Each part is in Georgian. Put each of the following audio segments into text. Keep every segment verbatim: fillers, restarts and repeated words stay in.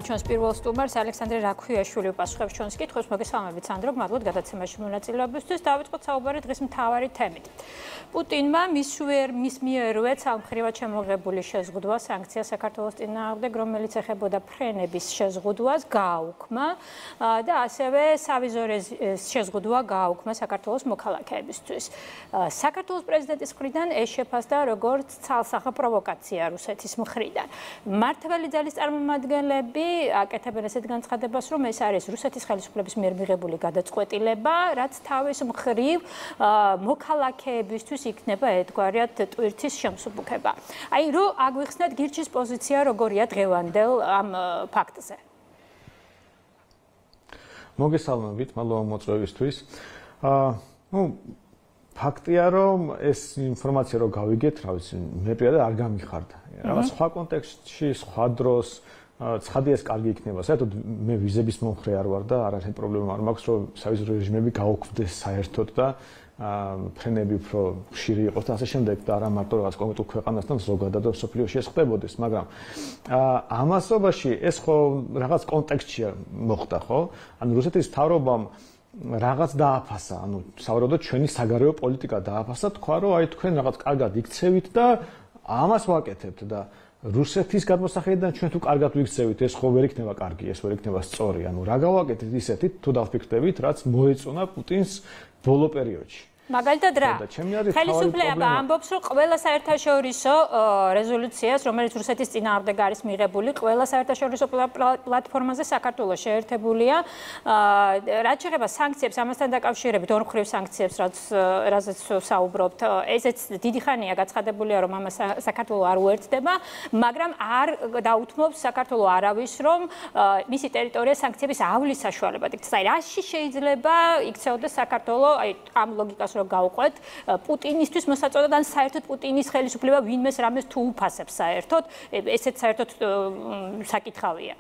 მოგესალმებით ჩვენს პირველ სტუმარს ალექსანდრე რაქვიაშვილი უპასუხებს ჩვენს კითხვებს. მოგესალმებით სანდრო, მადლობთ გადაცემაში მონაწილეობისთვის. დავიწყოთ საუბარი დღის მთავარი თემით. პუტინმა მის მიერვე ცალმხრივად შემოღებული შეზღუდვა სანქცია საქართველოს წინააღმდეგ, რომელიც ეხებოდა ფრენების შეზღუდვას, გააუქმა და ასევე სავიზორეს შეზღუდვა გააუქმა საქართველოს მოქალაქეებისთვის. საქართველოს პრეზიდენტის მხრიდან ეს შეფასდა როგორც ცალსახა პროვოკაცია რუსეთის მხრიდან. მმართველი ძალის წარმომადგენლები აკეთებენ ესეთ განცხადებას, რომ ეს არის რუსეთის ხელისუფლების მიერ მიღებული გადაწყვეტილება, რაც თავის მხრივ მოქალაქეებისთვის იქნება ერთგვარად ტვირთის შემსუბუქება. აი, რო აგვიხსნათ გირჩის პოზიცია როგორია დღევანდელ ამ ფაქტზე. მოგესალმებით, მადლობა მოწვევისთვის. აა, ну, ფაქტია, რომ ეს ინფორმაცია რო გავიგეთ, რა ვიცი, მე პირადად არ გამიხარდა. რაღაც სხვა კონტექსტში, სხვა დროს ცხადია ეს კარგი იქნება. საერთოდ მე ვიზების მომხრე არ ვარ და არასდროს პრობლემა არ მაქვს, რომ სავიზო რეჟიმები გაუქმდეს საერთოდ და ფრენები უფრო ხშირი იყოს და ასე შემდეგ და არა მარტო რაღაც კონკრეტულ ქვეყანასთან ზოგადად სოფლიოში ეს ხდებოდეს, მაგრამ ამასობაში ეს ხო რაღაც კონტექსტშია მოხდა, ხო? ანუ რუსეთის მთავრობამ რაღაც დააფასა, ანუ სავარაუდოდ ჩვენი საგარეო პოლიტიკა დააფასა, თქვა რომ აი თქვენ რაღაც კარგად იქცევით და ამას ვაკეთებთ და რუსეთის გადმოსახედიდან ჩვენ თუ კარგად ვიქცევით, ეს ხო ვერ იქნება კარგი, ეს ვერ იქნება სწორი. ანუ რა გავაკეთეთ ისეთით, თუ დავფიქრდებით, რაც მოეწონა პუტინს ბოლო პერიოდში. მაგალითად რა? ხელისუფლება ამბობს, რომ ყველა საერთაშორისო რეზოლუციას, რომელიც რუსეთის წინააღმდეგ არის მიღებული, ყველა საერთაშორისო პლატფორმაზე საქართველოს შეერთებულია. რაც შეეხება სანქციებს, ამასთან დაკავშირებით ორმხრივ სანქციებს, რაზეც საუბრობთ, ესეც დიდი ხანია გაცხადებულია, რომ ამას საქართველოს არ უერთდება, მაგრამ არ დაუთმობს საქართველოს არავის, რომ მისი ტერიტორია სანქციების ავლის საშუალებად იქცეს. აი, რაში შეიძლება იქცეოდეს საქართველოს, აი, ამ ლოგიკას რომ გავყვეთ პუტინისთვის მოსაწოდად ან საერთოდ პუტინის ხელისუფლება ვინმეს რამეს თუ უფასებს საერთოდ ესეც საერთოდ საკითხავია.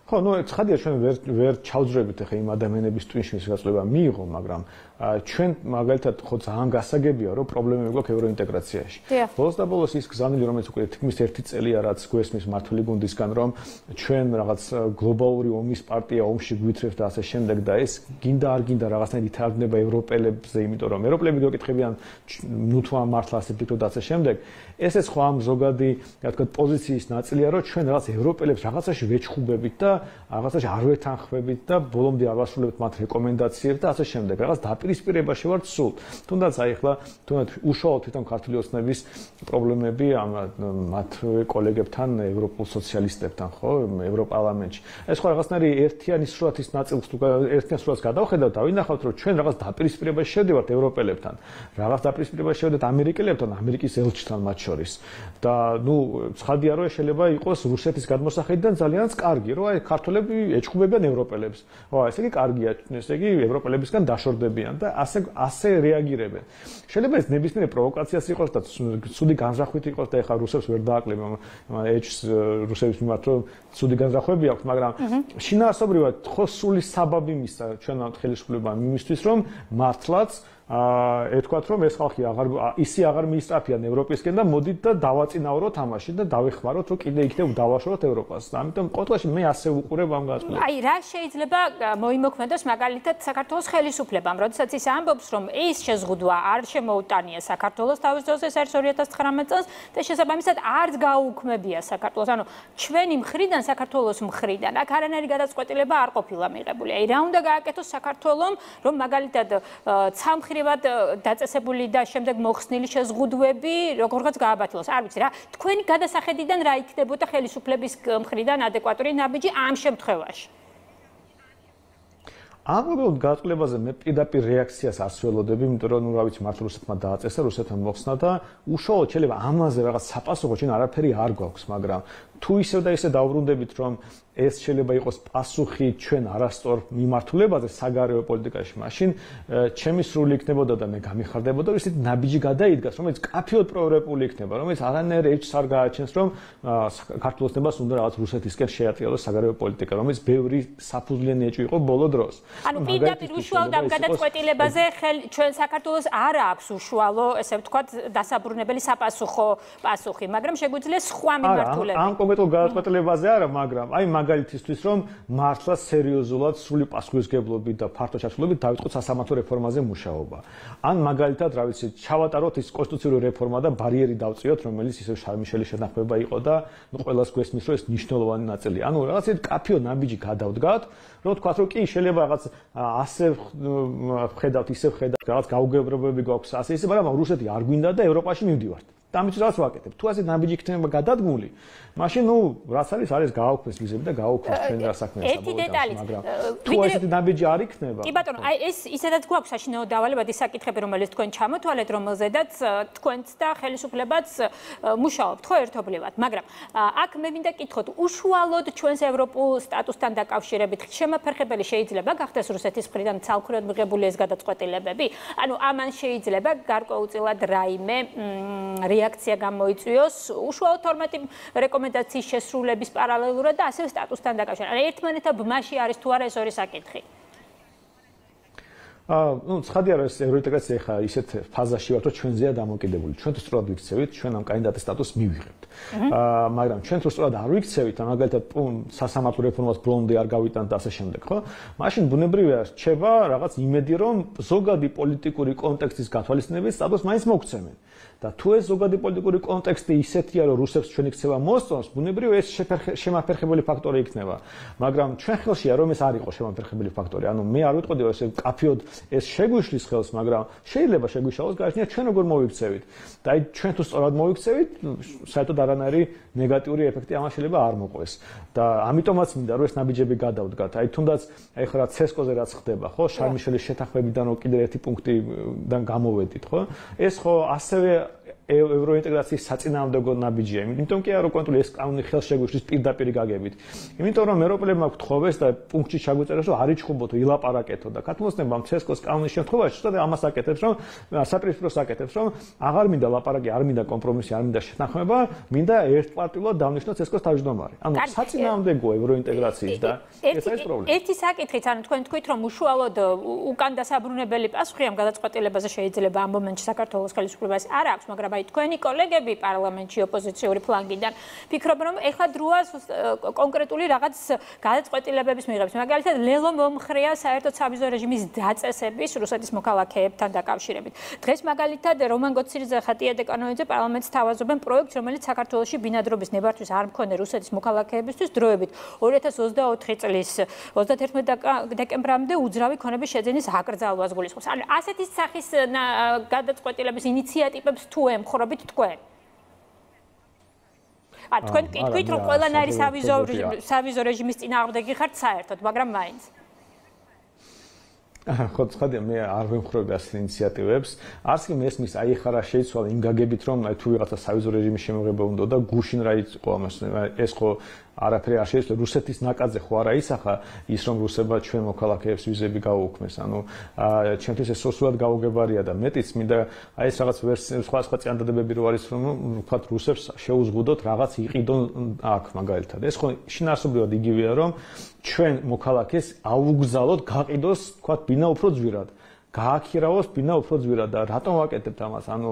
ხო, ну, ცხადია ჩვენ ვერ ვერ ჩავძრებით ახლა იმ ადამიანების ტვინში გაწყვეტილება მიიღო, მაგრამ ჩვენ მაგალითად ხო ძალიან გასაგებია, რომ პრობლემები გვაქვს ევროინტეგრაციაში. ბოლოს და ბოლოს ის გზავნილი, რომელიც უკვე თითქმის ერთი წელია, რაც გვესმის მართული გუნდისგან, რომ ჩვენ რაღაც გლობალური ომის პარტია ომში გვითრევთ და ასე შემდეგ და ეს გინდა არ გინდა რაღაცნაირად ითარგმნება ევროპელებზე, იმიტომ რომ ევროპელები გეკითხებიან, ნუ თუ ამ მართლა ასე ფიქრობთ და ასე შემდეგ. ესეც ხო ამ ზოგადი, რა თქმა უნდა, პოზიციის ნაწილია, რომ ჩვენ რაღაც ევროპელებს რაღაცაში ვეჩხუბებით და რაღაცაში არ ვეთანხმებით და ბოლომდე არ ვასრულებთ მათ რეკომენდაციებს და ასე შემდეგ. რაღაც დაპირისპირებაში ვართ სულ. თუნდაც აი ახლა თუნდაც უშუალოდ თვითონ ქართული ოცნების პრობლემები ამ მათ კოლეგებთან, ევროპულ სოციალისტებთან, ხო, ევროპარლამენტში. ეს ხო რაღაცნაირი ერთიანი სურათის ნაწილს თუ ერთიან სურათს გადავხედავთ, დავინახავთ, რომ ჩვენ რაღაც დაპირისპირებაში შევდივართ ევროპელებთან. რაღაც დაპირისპირებაში შევდივართ ამერიკელებთან, ამერიკის ელჩთან მათ შორის. და ნუ ცხადია, რომ შეიძლება იყოს რუსეთის გადმოსახედიდან ძალიანაც კარგი, რომ აი ქართველები ეჩხუბებიან ევროპელებს. ო, ესე იგი კარგია, ესე იგი ევროპელებისგან დაშორდებიან და ასე ასე რეაგირებენ. შეიძლება ეს ნებისმიერ პროვოკაციას იყოს და ცუდი განზრახვით იყოს და ეხლა რუსებს ვერ დააკლებენ ეჩს რუსების მიმართ, რომ ცუდი განზრახვები აქვს, მაგრამ შინაარსობრივად ხო სული საბაბი მისცა ჩვენ ხელისუფლებამ იმისთვის, რომ მართლაც აა ეთქვათ რომ ეს ხალხი აღარ ისი აღარ მიისწრაფიან ევროპისკენ და მოდით და დავაწინაუროთ ამაში და დავეხმაროთ რომ კიდე იქნებ დავაშოროთ ევროპას. ამიტომ ყოველში მე ასე უყურებ ამ განწყობას. აი რა შეიძლება მოიმოქმედოს მაგალითად საქართველოს ხელისუფლებამ, როდესაც ის ამბობს რომ ეს შეზღუდვა არ შემოუტანია საქართველოს თავის დროზე ორი ათას ცხრამეტ წელს და შესაბამისად არც გაუქმებია საქართველოს. ანუ ჩვენი მხრიდან საქართველოს მხრიდან აქ არანაირი გადაწყვეტილება არ ყოფილა მიღებული. აი რა უნდა გააკეთოს საქართველოს რომ მაგალითად ცალმხრივ დაწესებული და შემდეგ მოხსნილი შეზღუდვები როგორღაც გააბათილოს. არ ვიცი რა, თქვენი გადასახედიდან რა იქნებოდა ხელისუფლების მხრიდან ადეკვატური ნაბიჯი ამ შემთხვევაში? ამ განწყობაზე მე პირდაპირ რეაქციას არ სველოდები, იმიტომ რომ ნუ რა ვიცი, მართლა რუსეთმა დააწესა, რუსეთმა მოხსნა და უშუალოდ შეიძლება ამაზე რაღაც საპასუხო ჩვენ არაფერი არ გვაქვს, მაგრამ თუ ისევ და ისე დავბრუნდებით, რომ ეს შეიძლება იყოს პასუხი ჩვენ არასწორ მიმართულებაზე საგარეო პოლიტიკაში, მაშინ ჩემი სრული იქნებოდა და მე გამიხარდებოდა, რომ ისეთი ნაბიჯი გადაიდგას, რომელიც კაფეოდ პროევროპული იქნება, რომელიც არანაირ ეჭს არ გააჩენს, რომ ქართულ ოცნებას უნდა რაღაც რუსეთისკენ შეატრიალოს საგარეო პოლიტიკა, რომელიც ბევრი საფუძვლიანი ეჭვი იყო ბოლო დროს. ანუ პირდაპირ უშუალოდ ამ გადაწყვეტილებაზე ჩვენ საქართველოს არ აქვს უშუალო, ესე ვთქვათ, დასაბრუნებელი საპასუხო პასუხი, მაგრამ შეგვიძლია სხვა მიმართულებით. საუბედო გადაწყვეტილებაზე არა, მაგრამ აი მაგალითისთვის რომ მართლა სერიოზულად სრული პასუხისმგებლობით და ფართო ჩართულობით დავიწყოთ სასამართლო რეფორმაზე მუშაობა. ან მაგალითად, რა ვიცი, ჩავატაროთ ის კონსტიტუციური რეფორმა და ბარიერი დავწიოთ, რომელიც ისევ შარმიშელის შეთანხმება იყო და ნუ ყველას გვესმის რომ ეს მნიშვნელოვანი ნაწილია. ანუ რაღაც ისეთ კაფიო ნაბიჯი გადავდგათ, რომ თქვათ რომ კი შეიძლება რაღაც ასე ხედავთ, ისე ხედავთ, რაღაც გაუგებრობები გვაქვს, ასე ისე, მაგრამ რუსეთი არ გვინდა და ევროპაში მივდივართ. დამის რაც ვაკეთებ. თუ ასე ნაბიჯი იქნება გადადგმული, მაშინ ნუ რაც არის არის გააუქმეს მიზები და გააუქმეს ჩვენ რა საქმეა საბოლოოდ, მაგრამ თუ ასეთი ნაბიჯი არ იქნება. კი ბატონო, აი ეს ისედაც გვაქვს საშინაო დავალებადი საკითხები, რომელიც თქვენ ჩამოთვალეთ, რომელზედაც თქვენც და ხელისუფლებაც მუშაობთ ხო ერთობლივად, მაგრამ აქ მე მინდა კითხოთ, უშუალოდ ჩვენს ევროპულ სტატუსთან დაკავშირებით შემაფერხებელი შეიძლება გახდეს რუსეთის მხრიდან ცალკეულად მიღებული ეს გადაწყვეტილებები? ანუ ამან შეიძლება გარკვეულწილად რაიმე რეაქცია გამოიწვიოს უშუალოდ თორმეტი რეკომენდაციის შესრულების პარალელურად და ასევე სტატუსთან დაკავშირებით. ანუ ერთმანეთთან ბმაში არის თუ არა ეს ორი საკითხი? აა, ну, ცხადია რომ ეს ევროინტეგრაცია ხა ისეთ ფაზაში ვართ, რომ ჩვენზეა დამოკიდებული. ჩვენ თუ სწორად ვიქცევით, ჩვენ ამ კანდიდატის სტატუსს მივიღებთ. აა, მაგრამ ჩვენ თუ სწორად არ ვიქცევით, მაგალითად, სასამართლო რეფორმას ბოლომდე არ გავიტანთ და ასე შემდეგ, ხო? მაშინ ბუნებრივია რჩება რაღაც იმედი, რომ ზოგადი პოლიტიკური კონტექსტის გათვალისწინებით სტატუსს მაინც მოგცემენ. და თუ ეს ზოგადი პოლიტიკური კონტექსტი ისეთია, რომ რუსებს ჩვენი ქცევა მოსწონს, ბუნებრივია ეს შემაფერხებელი ფაქტორი იქნება. მაგრამ ჩვენ ხელშია რომ ეს არ იყოს შემაფერხებელი ფაქტორი. ანუ მე არ ვიტყოდი რომ ეს კაფიოდ ეს შეგვიშლის ხელს, მაგრამ შეიძლება შეგვიშალოს გააჩნია ჩვენ როგორ მოვიქცევით. და აი ჩვენ თუ სწორად მოვიქცევით, საერთოდ არანაირი ნეგატიური ეფექტი ამას შეიძლება არ მოყვეს. და ამიტომაც მინდა რომ ეს ნაბიჯები გადავდგათ. აი თუნდაც აი ხარა ცესკოზე რაც ხდება, ხო? შარმიშელის შეთანხმებიდან კიდე ერთი პუნქტიდან გამოვედით, ხო? ეს ხო ასევე ევროინტეგრაციის საწინააღმდეგო ნაბიჯია. იმიტომ კი არა რომ კონტროლი ეს კანონი ხელშეგვიშლის პირდაპირ გაგებით. იმიტომ რომ ევროპელებმა გთხოვეს და პუნქტში ჩაგვიწერეს რომ არ იჩხუბოთ, ილაპარაკეთო და ქათმოსნებამ ცესკოს კანონის შემთხვევაში ცოტა ამას აკეთებს რომ საპირისპიროს აკეთებს რომ აღარ მინდა ლაპარაკი, არ მინდა კომპრომისი, არ მინდა შეთანხმება, მინდა ერთპარტიულად დავნიშნო ცესკოს თავმჯდომარე. ანუ საწინააღმდეგო ევროინტეგრაციის და ეს არის პრობლემა. ერთი საკითხიც, ანუ თქვენ თქვით რომ უშუალოდ უკან დასაბრუნებელი პასუხი ამ გადაწყვეტილებაზე შეიძლება ამ მომენტში საქართველოს ხელისუფლებას არ აქვს, მაგრამ აი თქვენი კოლეგები პარლამენტში ოპოზიციური ფლანგიდან ფიქრობენ რომ ეხლა დროა კონკრეტული რაღაც გადაწყვეტილებების მიღების. მაგალითად ლელო მომხრეა საერთოდ სავიზო რეჟიმის დაწესების რუსეთის მოქალაქეებთან დაკავშირებით. დღეს მაგალითად რომან გოცირიძე, ხატია დეკანოიძე პარლამენტს თავაზობენ პროექტს, რომელიც საქართველოში ბინადრობის ნებართვის არ მქონე რუსეთის მოქალაქეებისთვის დროებით ორი ათას ოცდაოთხი წლის ოცდაათერთმეტი დეკემბრამდე უძრავი ქონების შეძენის აკრძალვას გულისხმობს. ანუ ასეთი სახის გადაწყვეტილების ინიციატივებს თუ ემხრობით თქვენ? ა თქვენ კითხვით რომ ყველანაირი სავიზო სავიზო რეჟიმის წინააღმდეგი ხართ საერთოდ, მაგრამ მაინც. ხო, ცხადია, მე არ ვემხრობი ასეთ ინიციატივებს. არც კი მესმის აი ხარა შეიცვალა იმ გაგებით რომ აი თუ ვიღაცა სავიზო რეჟიმის შემოღება უნდა და გუშინ რა იყო ამას ეს ხო არაფერი არ შეიძლება რუსეთის ნაკადზე ხო არა ისახა ის რომ რუსება ჩვენ მოქალაქეებს ვიზები გაუქმეს. ანუ ჩემთვის ეს სოციალურად გაუგებარია და მეტიც მინდა აი ეს რაღაც სხვა სხვა წინადადებები რო არის რომ ვთქვათ რუსებს შეუზღუდოთ რაღაც იყიდონ აქ მაგალითად. ეს ხო შინაარსობრივად იგივეა რომ ჩვენ მოქალაქეს აუგზავნოთ გაყიდოს ვთქვათ ბინა უფრო ძვირად. გააქირავოს ბინა უფრო ძვირად და რატომ ვაკეთებთ ამას? ანუ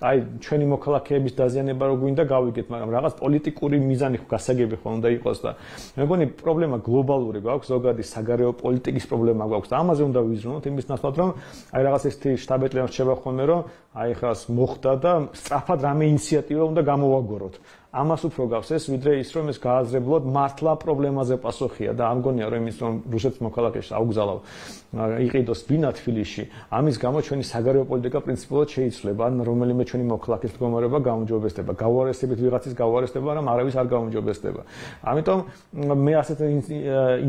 აი ჩვენი მოქალაქეების დაზიანება რო გვინდა გავიგეთ, მაგრამ რაღაც პოლიტიკური მიზანი ხო გასაგები ხო უნდა იყოს და მე მგონი პრობლემა გლობალური გვაქვს, ზოგადი საგარეო პოლიტიკის პრობლემა გვაქვს და ამაზე უნდა ვიზრუნოთ იმის ნაცვლად რომ აი რაღაც ერთი შტაბ-ეტლიანი რჩება ხოლმე რომ აი ხას მოხდა და სწრაფად რამე ინიციატივა უნდა გამოვაგოროთ. ამას უფრო გავს ეს ვიდრე ის რომ ეს გააზრებლად მართლა პრობლემაზე პასუხია და არ მგონია რომ იმის რომ რუსეთის მოქალაქეს აუგზავნავ იყიდოს ბინა თბილისში ამის გამო ჩვენი საგარეო პოლიტიკა პრინციპულად შეიცვლება ან რომელიმე ჩვენი მოქალაქის მდგომარეობა გაუმჯობესდება გაუარესებით ვიღაცის გაუარესდება რომ არავის არ გაუმჯობესდება ამიტომ მე ასეთ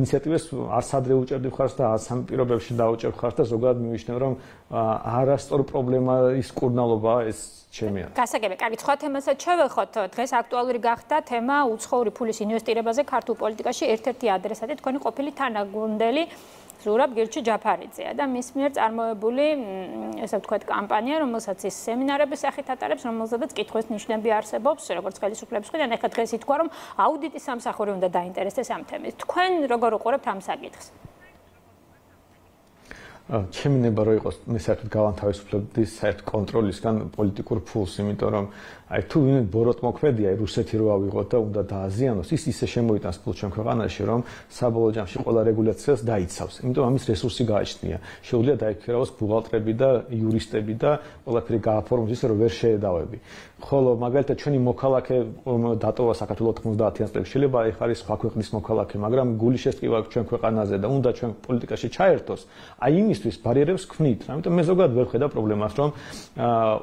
ინიციატივებს არც ადრე უჭერდი ხარს და არც ამ პირობებში დაუჭერ ხარს და ზოგადად მივიშნევ რომ არასწორ პრობლემის კურნალობა ეს ჩემია. გასაგები, კარგი, სხვა თემასაც შევეხოთ. დღეს აქტუალური გახდა თემა უცხოური ფულის ინვესტირებაზე ქართულ პოლიტიკაში. ერთ-ერთი ადრესატი თქვენი ყოფილი თანაგუნდელი ზურაბ გირჩი ჯაფარიძეა და მის მიერ წარმოებული, ესე ვთქვათ, კამპანია, რომელსაც ის სემინარების სახით ატარებს, რომელზედაც კითხვის ნიშნები არსებობს, როგორც ხელისუფლების მხრიდან. ეხლა დღეს ითქვა, რომ აუდიტის სამსახური უნდა დაინტერესდეს ამ თემით. თქვენ როგორ უყურებთ ამ საკითხს? ჩემი ნება რო იყოს მე საერთოდ გავანთავისუფლებდი საერთოდ კონტროლისგან პოლიტიკურ ფულს, იმიტომ რომ აი თუ ვინმე ბოროტმოქმედია რუსეთი რო ავიღოთ და უნდა დააზიანოს, ის ისე შემოიტანს ფულს ჩვენ ქვეყანაში, რომ საბოლოო ჯამში ყველა რეგულაციას დაიცავს. იმიტომ ამის რესურსი გააჩნია. შეუძლია დაიქერავოს ბუღალტრები და იურისტები და ყველაფერი გააფორმოს ისე რომ ვერ შეედავები. ხოლო მაგალითად ჩვენი მოქალაქე დატოვა საქართველოს თხმოცდაათიან წლებში შეიძლება ეხ არის სხვა ქვეყნის მოქალაქე, მაგრამ გული შესტკივა ჩვენ ქვეყანაზე და უნდა ჩვენ პოლიტიკაში ჩაერთოს. აი იმისთვის ბარიერებს ქმნით. ამიტომ მე ზოგადად ვერ ხედავ პრობლემას, რომ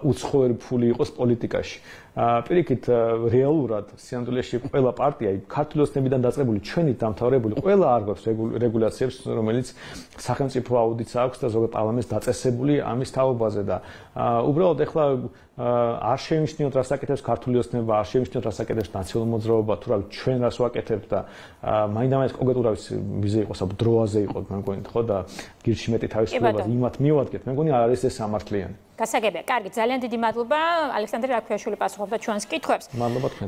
უცხოური ფული იყოს პოლიტიკაში. პირიქით რეალურად სინამდვილეში ყველა პარტია ქართული ოცნებიდან დაწყებული ჩვენით დამთავრებული ყველა არგვებს რეგულაციებს რომელიც სახელმწიფო აუდიტს აქვს და ზოგადად პარლამენტს დაწესებული ამის თაობაზე და უბრალოდ ეხლა არ შეიმჩნიოთ რას აკეთებს ქართული ოცნება, არ შეიმჩნიოთ რას აკეთებს ნაციონალური მოძრაობა, თუ რა ჩვენ რას ვაკეთებთ და მაინდამაინც კონკრეტულად ვიზე იყოს აბა დროაზე იყოს მე მგონი ხო და გირჩი მეტი თავისუფლებას იმათ მივადგეთ მე მგონი არ არის ეს სამართლიანი. გასაგებია. კარგი, ძალიან დიდი მადლობა ალექსანდრე რაქვიაშვილი პასუხობდა ჩვენს კითხვებს. მადლობა თქვენ.